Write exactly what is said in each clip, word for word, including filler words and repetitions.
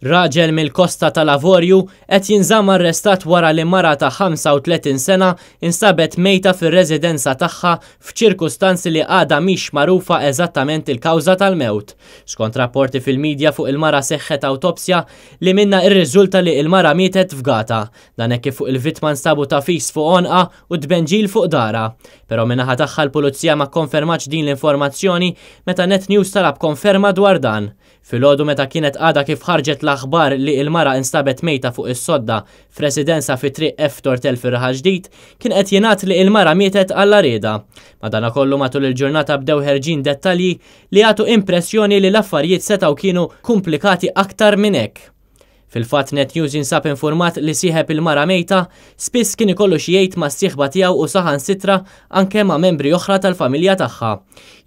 Raġel mill-Kosta tal-Avorju qed jinżamm arrestat wara li mara ta' ħamsa u tletin sena instabet mejta fir-residenza tagħha f'ċirkustanzi li għadha mhix magħrufa eżattament il-kawża tal-mewt. Skont rapporti fil-medja, fuq il-mara seħħet awtopsja li minna irriżulta li il-mara mietet fgata. Dan hekk kif fuq il-vittma nstabu tagħfis fuq għonqha u tbenġil fuq daharha. Però min-naħa tagħha l-pulizija ma konfermatx din l-informazzjoni meta Net News talab konferma dwar dan. Filgħodu, meta kienet għadha kif ħarġet l-aħbar li il-mara instabet mejta fuq is-sodda f'residenza fi Triq F Tortel fir-Raħal Ġdid, kien qed jingħad li il-mara mietet għall-għarrieda. Madanakollu, matul il-ġurnata bdew ħerġin dettalji li jagħtu impressjoni li l-affarijiet setgħu kienu komplikati aktar minn hekk. Fil-fatt, Net News jinsab informat li sieħeb il-mara mejta spiss kien ikollu xi jgħid ma' sieħba tiegħu u saħansitra anke ma' membri oħra tal-familja tagħha.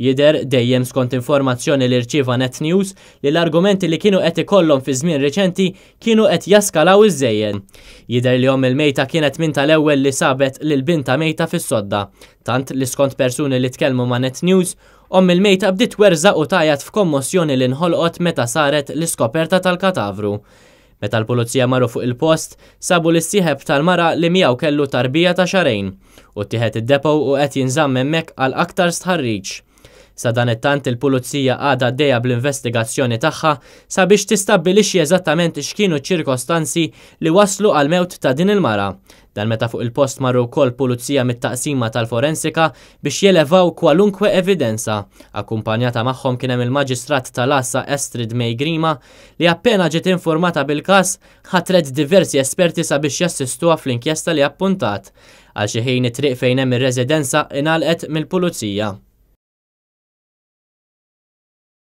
Jidher, dejjem skont informazzjoni li rċieva Net News, li l-argumenti li kienu qed ikollhom fi żmien reċenti kienu qed jaskalaw iż-żejjed. Jidher li omm il-mejta kienet minn tal-ewwel li sabet lil bintha mejta fis-sodda, tant li skont persuni li tkellmu ma' Net News, omm il-mejta bdiet twerżaq u tgħajjat f'kommossjoni li nħolqot meta saret l-iskoperta tal-katavru. Meta l-pulizija marru fuq il-post, sabu lis-sieħeb tal-mara li miegħu kellu tarbija ta' xahrejn u ttieħed id-depot u qed jinżamm hemmhekk għal aktar stħarriġ. Sadanittant, il-pulizija għadha għaddejja bl-investigazzjoni tagħha sabiex tistabbilixxi eżattament x'kienu ċirkostanzi li waslu għal mewt ta' din il-mara. Dan meta fuq il-post marru wkoll pulizija mit-taqsima tal-forensika biex jelevaw kwalunkwe evidenza. Akkumpanjata magħhom kien hemm il-Maġistrat tal-Għassa Astrid May Grima, li appena ġiet informata bil-każ ħatret diversi esperti sabiex jassistuha fl-inkjesta li appuntat. Għal xi ħin, it-triq fejn hemm ir-residenza ingħalqet mill-pulizija.